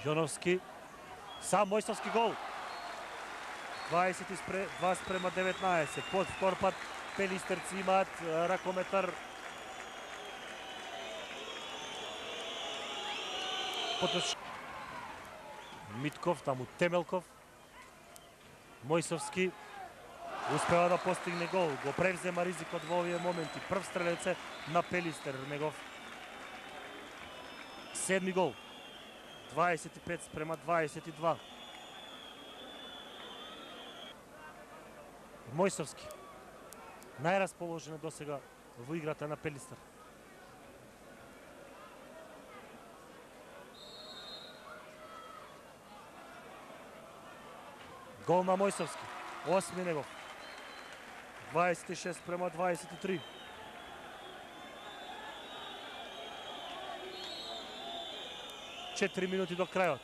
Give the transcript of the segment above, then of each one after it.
Јоновски, сам Мојсовски гол. 22:19. Под втор пат пелистерци имаат ракометар. Митков, таму Темелков. Мојсовски успева да постигне гол. Го превзема ризикот во овие моменти. Прв стрелец е на Пелистер, негов 7 гол. 25:22. Мојсовски најрасположен досега во играта на Пелистер. Гол на Мојсовски, 8 негов. 26:23. Четири минути до крајот.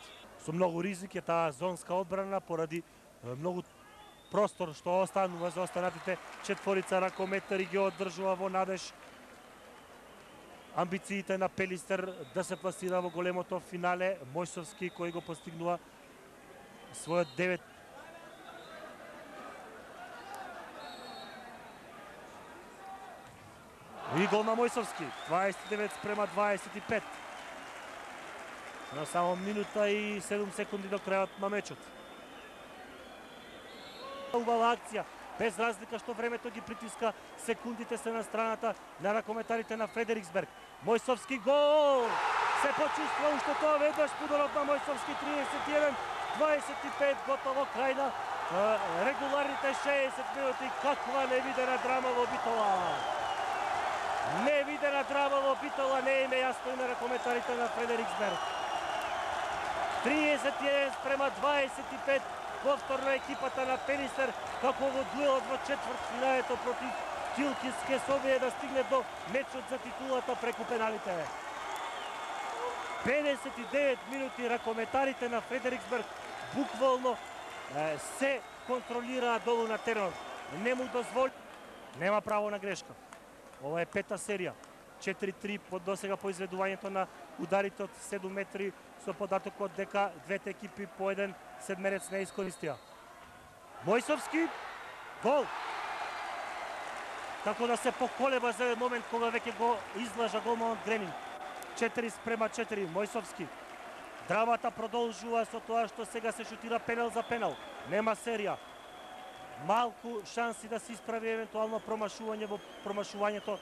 Со многу ризик е таа зонска одбрана поради многу простор што останува за останатите четворица ракометари ги одржува во надеж амбициите на Пелистер да се пласира во големото финале. Мојсовски кој го постигнува својот 9 и гол на Мојсовски, 29:25. На само минута и 7 секунди до крајот на мечот. Убава акција, без разлика што времето ги притиска, секундите се на страната на ракометарите на Фредериксберг. Мојсовски гол! Се почувства уште тоа веднаш пудорот на Мојсовски, 31:25, готово крај на регуларните 60 минути. Каква невидена драма во Битола! Невидена драма во Битола, не им е јасно и на ракометарите на Фредериксберг. 31:25, повторно екипата на Пелистер, како во дуелот во четвртфиналето против Килкис ке се обие да стигне до мечот за титулата преку пеналите. 59 минути ракометарите на Фредериксберг буквално се контролираат долу на теренот. Не му дозволи, нема право на грешка. Ова е пета серија. 4-3 под досега по изведувањето на ударите од 7 метри со податокот дека двете екипи по еден седмерец не искористија. Мојсовски гол. Како да се поколеба за момент кога веќе го излажа голманот Гремин. 4:4. Мојсовски. Драмата продолжува со тоа што сега се шутира пенал за пенал. Нема серија. Малку шанси да се исправи евентуално промашување во промашувањето